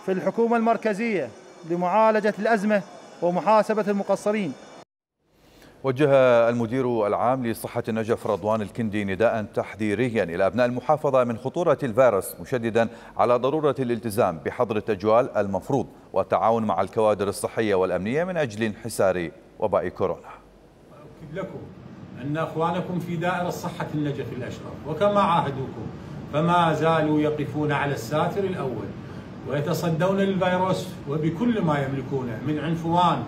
في الحكومة المركزية لمعالجة الأزمة ومحاسبة المقصرين. وجه المدير العام لصحة النجف رضوان الكندي نداء تحذيريا إلى أبناء المحافظة من خطورة الفيروس، مشددا على ضرورة الالتزام بحظر التجوال المفروض والتعاون مع الكوادر الصحية والأمنية من أجل انحسار وباء كورونا. أؤكد لكم أن أخوانكم في دائرة صحة النجف الأشرف وكما عاهدوكم فما زالوا يقفون على الساتر الأول ويتصدون للفيروس وبكل ما يملكونه من عنفوان،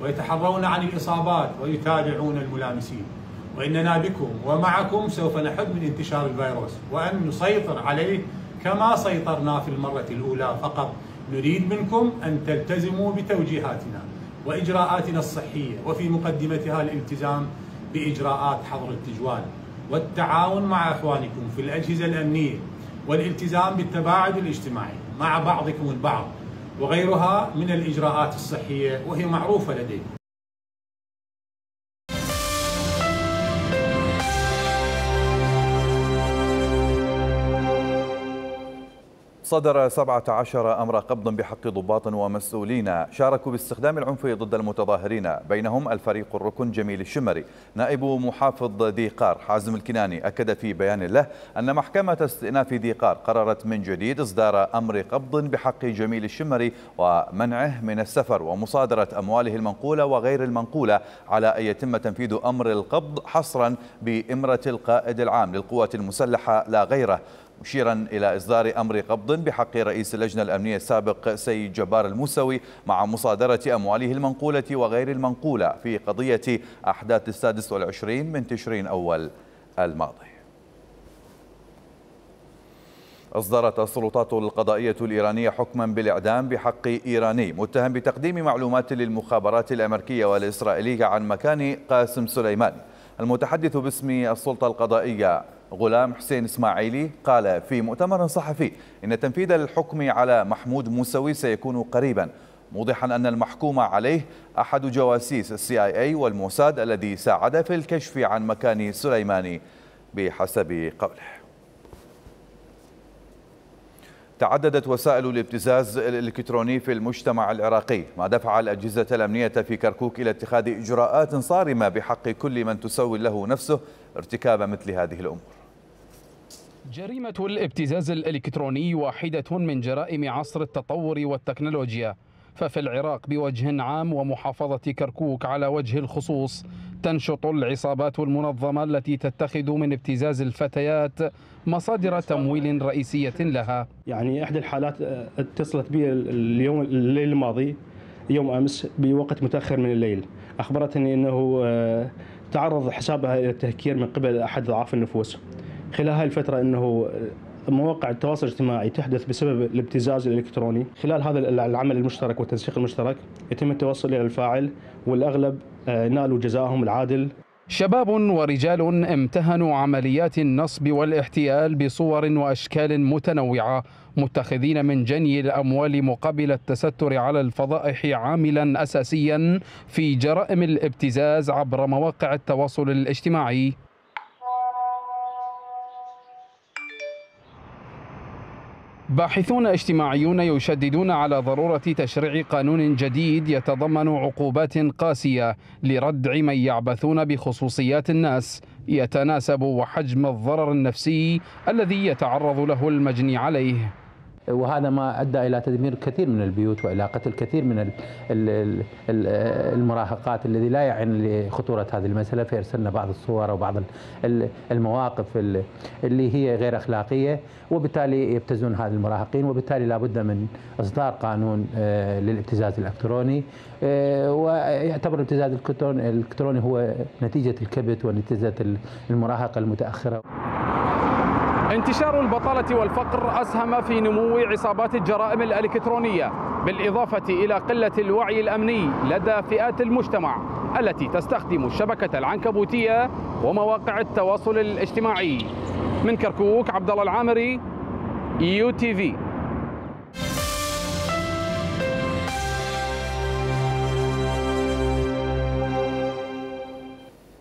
ويتحرون عن الإصابات ويتابعون الملامسين، وإننا بكم ومعكم سوف نحد من انتشار الفيروس وأن نسيطر عليه كما سيطرنا في المرة الأولى، فقط نريد منكم أن تلتزموا بتوجيهاتنا وإجراءاتنا الصحية، وفي مقدمتها الالتزام بإجراءات حظر التجوال والتعاون مع أخوانكم في الأجهزة الأمنية والالتزام بالتباعد الاجتماعي مع بعضكم البعض وغيرها من الإجراءات الصحية وهي معروفة لديكم. صدر سبعة عشر أمر قبض بحق ضباط ومسؤولين شاركوا باستخدام العنف ضد المتظاهرين، بينهم الفريق الركن جميل الشمري. نائب محافظ ذي قار حازم الكناني أكد في بيان له أن محكمة استئناف ذي قار قررت من جديد إصدار أمر قبض بحق جميل الشمري ومنعه من السفر ومصادرة أمواله المنقولة وغير المنقولة، على أن يتم تنفيذ أمر القبض حصرا بإمرة القائد العام للقوات المسلحة لا غيره، مشيرا إلى إصدار أمر قبض بحق رئيس اللجنة الأمنية السابق سيد جبار الموسوي مع مصادرة أمواله المنقولة وغير المنقولة في قضية أحداث السادس والعشرين من تشرين أول الماضي. أصدرت السلطات القضائية الإيرانية حكما بالإعدام بحق إيراني متهم بتقديم معلومات للمخابرات الأمريكية والإسرائيلية عن مكان قاسم سليماني. المتحدث باسم السلطة القضائية غلام حسين إسماعيلي قال في مؤتمر صحفي إن تنفيذ الحكم على محمود موسوي سيكون قريبا، موضحا أن المحكوم عليه أحد جواسيس السي آي إيه والموساد الذي ساعد في الكشف عن مكان سليماني بحسب قوله. تعددت وسائل الابتزاز الإلكتروني في المجتمع العراقي، ما دفع الأجهزة الأمنية في كركوك إلى اتخاذ إجراءات صارمة بحق كل من تسول له نفسه ارتكاب مثل هذه الأمور. جريمة الابتزاز الإلكتروني واحدة من جرائم عصر التطور والتكنولوجيا، ففي العراق بوجه عام ومحافظة كركوك على وجه الخصوص تنشط العصابات المنظمة التي تتخذ من ابتزاز الفتيات مصادر تمويل رئيسية لها. يعني إحدى الحالات اتصلت بي اليوم الليل الماضي يوم أمس بوقت متأخر من الليل، أخبرتني أنه تعرض حسابها إلى التهكير من قبل أحد ضعاف النفوس. خلال هاي الفترة أنه مواقع التواصل الاجتماعي تحدث بسبب الابتزاز الإلكتروني. خلال هذا العمل المشترك والتنسيق المشترك يتم التوصل إلى الفاعل، والأغلب نالوا جزاءهم العادل. شباب ورجال امتهنوا عمليات النصب والاحتيال بصور وأشكال متنوعة، متخذين من جني الأموال مقابل التستر على الفضائح عاملا أساسيا في جرائم الابتزاز عبر مواقع التواصل الاجتماعي. باحثون اجتماعيون يشددون على ضرورة تشريع قانون جديد يتضمن عقوبات قاسية لردع من يعبثون بخصوصيات الناس، يتناسب وحجم الضرر النفسي الذي يتعرض له المجني عليه. وهذا ما أدى إلى تدمير كثير من البيوت وإلى قتل كثير من المراهقات الذي لا يعن لخطورة هذه المسألة، فأرسلنا بعض الصور وبعض المواقف اللي هي غير أخلاقية، وبالتالي يبتزون هذه المراهقين، وبالتالي لابد من إصدار قانون للابتزاز الإلكتروني. ويعتبر الابتزاز الإلكتروني هو نتيجة الكبت ونتيجة المراهقة المتأخرة. انتشار البطالة والفقر أسهم في نمو عصابات الجرائم الإلكترونية، بالإضافة إلى قلة الوعي الأمني لدى فئات المجتمع التي تستخدم الشبكة العنكبوتية ومواقع التواصل الاجتماعي. من كركوك، عبد الله العامري، يو تي في.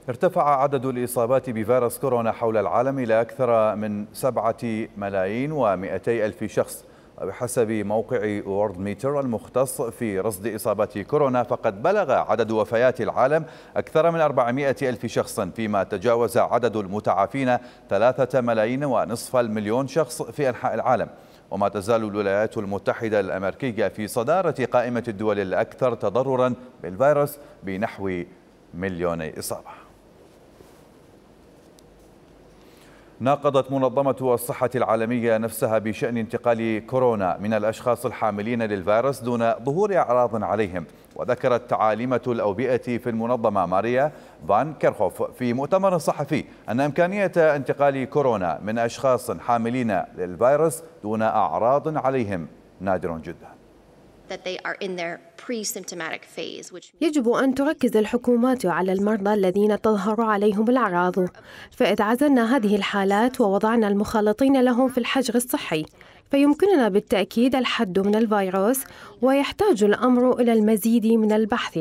ارتفع عدد الإصابات بفيروس كورونا حول العالم إلى أكثر من سبعة ملايين ومئتي ألف شخص، وبحسب موقع وورلد ميتر المختص في رصد إصابات كورونا فقد بلغ عدد وفيات العالم أكثر من أربعمئة ألف شخص، فيما تجاوز عدد المتعافين ثلاثة ملايين ونصف المليون شخص في أنحاء العالم. وما تزال الولايات المتحدة الأمريكية في صدارة قائمة الدول الأكثر تضررا بالفيروس بنحو مليوني إصابة. ناقضت منظمة الصحة العالمية نفسها بشأن انتقال كورونا من الأشخاص الحاملين للفيروس دون ظهور أعراض عليهم. وذكرت عالمة الأوبئة في المنظمة ماريا فان كيرخوف في مؤتمر صحفي أن إمكانية انتقال كورونا من أشخاص حاملين للفيروس دون أعراض عليهم نادر جدا. يجب أن تركز الحكومات على المرضى الذين تظهر عليهم الأعراض، فإذا عزلنا هذه الحالات ووضعنا المخالطين لهم في الحجر الصحي فيمكننا بالتأكيد الحد من الفيروس، ويحتاج الأمر إلى المزيد من البحث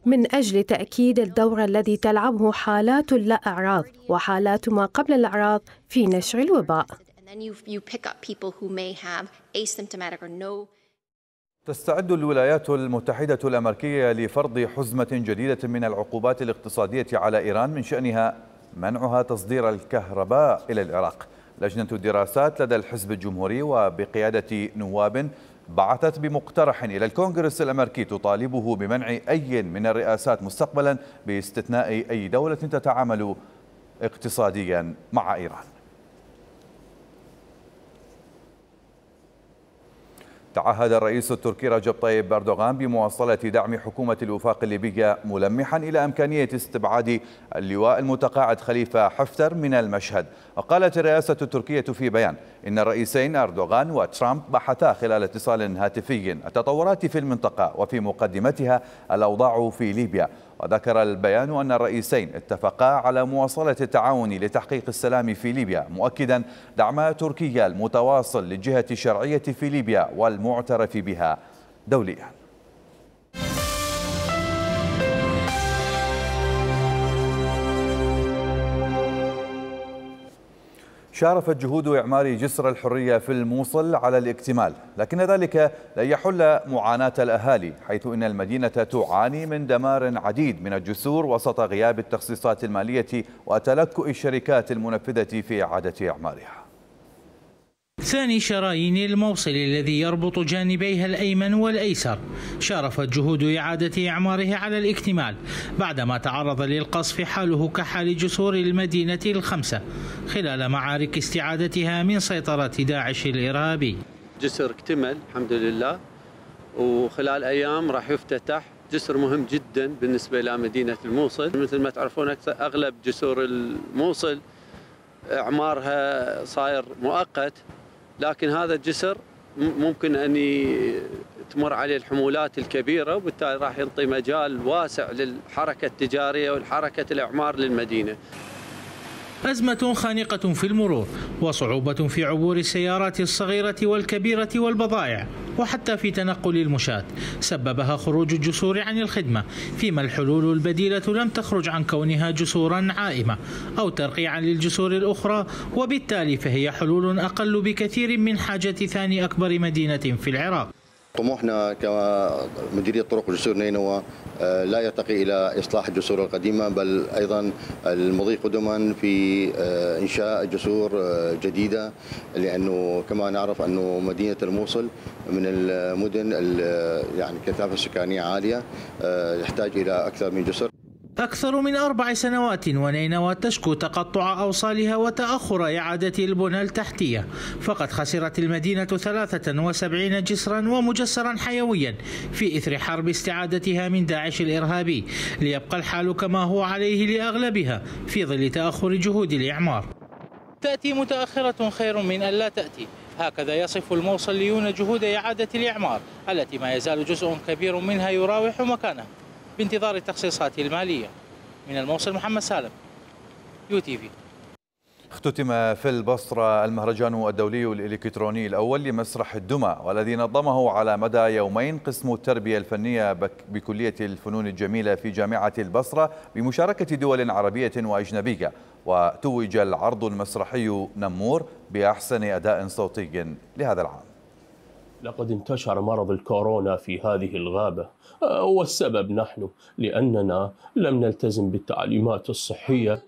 من أجل تأكيد الدور الذي تلعبه حالات لا أعراض وحالات ما قبل الأعراض في نشر الوباء. تستعد الولايات المتحدة الأمريكية لفرض حزمة جديدة من العقوبات الاقتصادية على إيران من شأنها منعها تصدير الكهرباء إلى العراق. لجنة الدراسات لدى الحزب الجمهوري وبقيادة نواب بعثت بمقترح إلى الكونغرس الأمريكي تطالبه بمنع أي من الرئاسات مستقبلا باستثناء أي دولة تتعامل اقتصاديا مع إيران. تعهد الرئيس التركي رجب طيب أردوغان بمواصلة دعم حكومة الوفاق الليبية، ملمحا إلى إمكانية استبعاد اللواء المتقاعد خليفة حفتر من المشهد. وقالت الرئاسة التركية في بيان إن الرئيسين أردوغان وترامب بحثا خلال اتصال هاتفي التطورات في المنطقة وفي مقدمتها الأوضاع في ليبيا. وذكر البيان أن الرئيسين اتفقا على مواصلة التعاون لتحقيق السلام في ليبيا، مؤكدا دعم تركيا المتواصل للجهة الشرعية في ليبيا والمعترف بها دوليا. شارفت جهود إعمار جسر الحرية في الموصل على الاكتمال، لكن ذلك لن يحل معاناة الأهالي، حيث إن المدينة تعاني من دمار عديد من الجسور وسط غياب التخصيصات المالية وتلكؤ الشركات المنفذة في إعادة إعمارها. ثاني شرايين الموصل الذي يربط جانبيها الأيمن والأيسر شارفت جهود إعادة إعماره على الاكتمال بعدما تعرض للقصف حاله كحال جسور المدينة الخمسة خلال معارك استعادتها من سيطرة داعش الإرهابي. جسر اكتمل الحمد لله، وخلال أيام راح يفتتح جسر مهم جدا بالنسبة إلى مدينة الموصل. مثل ما تعرفون أغلب جسور الموصل إعمارها صاير مؤقت، لكن هذا الجسر ممكن أن تمر عليه الحمولات الكبيرة، وبالتالي راح ينطي مجال واسع للحركة التجارية والحركة الإعمار للمدينة. أزمة خانقة في المرور وصعوبة في عبور السيارات الصغيرة والكبيرة والبضائع وحتى في تنقل المشاة سببها خروج الجسور عن الخدمة، فيما الحلول البديلة لم تخرج عن كونها جسورا عائمة أو ترقيعا للجسور الأخرى، وبالتالي فهي حلول أقل بكثير من حاجة ثاني أكبر مدينة في العراق. طموحنا كمديرية طرق وجسور نينوى لا يرتقي إلى إصلاح الجسور القديمة، بل أيضا المضي قدما في إنشاء جسور جديدة، لأنه كما نعرف أنه مدينة الموصل من المدن يعني كثافة سكانية عالية يحتاج إلى أكثر من جسر. أكثر من أربع سنوات ونينوى تشكو تقطع أوصالها وتأخر إعادة البنى التحتية، فقد خسرت المدينة ثلاثة وسبعين جسرا ومجسرا حيويا في إثر حرب استعادتها من داعش الإرهابي، ليبقى الحال كما هو عليه لأغلبها في ظل تأخر جهود الإعمار. تأتي متأخرة خير من أن لا تأتي، هكذا يصف الموصليون جهود إعادة الإعمار التي ما يزال جزء كبير منها يراوح مكانه بانتظار التخصيصات المالية. من الموصل محمد سالم، يو تي في. اختتم في البصرة المهرجان الدولي الإلكتروني الأول لمسرح الدمى، والذي نظمه على مدى يومين قسم التربية الفنية بكلية الفنون الجميلة في جامعة البصرة بمشاركة دول عربية وأجنبية. وتوج العرض المسرحي نمور بأحسن أداء صوتي لهذا العام. لقد انتشر مرض الكورونا في هذه الغابة، والسبب نحن لأننا لم نلتزم بالتعليمات الصحية.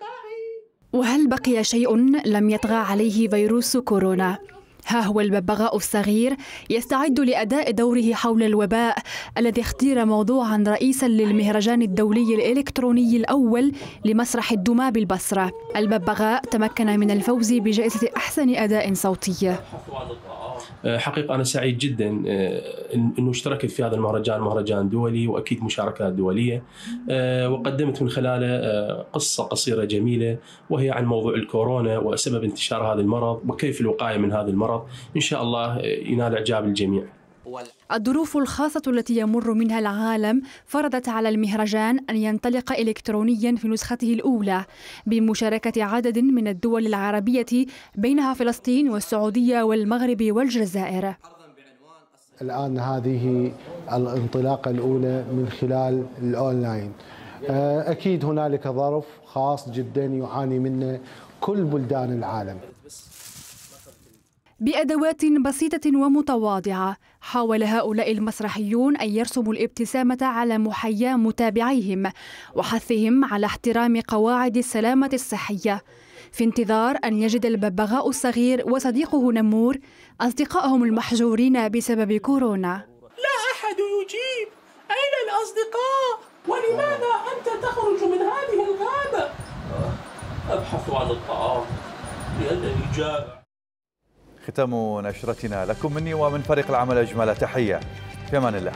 وهل بقي شيء لم يطغى عليه فيروس كورونا؟ ها هو الببغاء الصغير يستعد لأداء دوره حول الوباء الذي اختير موضوعا رئيسا للمهرجان الدولي الإلكتروني الأول لمسرح الدمى بالبصرة. الببغاء تمكن من الفوز بجائزة أحسن أداء صوتي. حقيقة أنا سعيد جدا أنه اشتركت في هذا المهرجان، مهرجان دولي وأكيد مشاركات دولية، وقدمت من خلاله قصة قصيرة جميلة وهي عن موضوع الكورونا وسبب انتشار هذا المرض وكيف الوقاية من هذا المرض. إن شاء الله ينال إعجاب الجميع. الظروف الخاصة التي يمر منها العالم فرضت على المهرجان أن ينطلق إلكترونيا في نسخته الأولى بمشاركة عدد من الدول العربية بينها فلسطين والسعودية والمغرب والجزائر. الآن هذه الانطلاقة الأولى من خلال الأونلاين. أكيد هنالك ظرف خاص جدا يعاني منه كل بلدان العالم. بأدوات بسيطة ومتواضعة حاول هؤلاء المسرحيون أن يرسموا الابتسامة على محيا متابعيهم وحثهم على احترام قواعد السلامة الصحية، في انتظار أن يجد الببغاء الصغير وصديقه نمور أصدقائهم المحجورين بسبب كورونا. لا أحد يجيب، أين الأصدقاء؟ ولماذا أنت تخرج من هذه الغابة؟ أبحث عن الطعام لأنني جائع. ختام نشرتنا لكم مني ومن فريق العمل أجمل تحية، في أمان الله.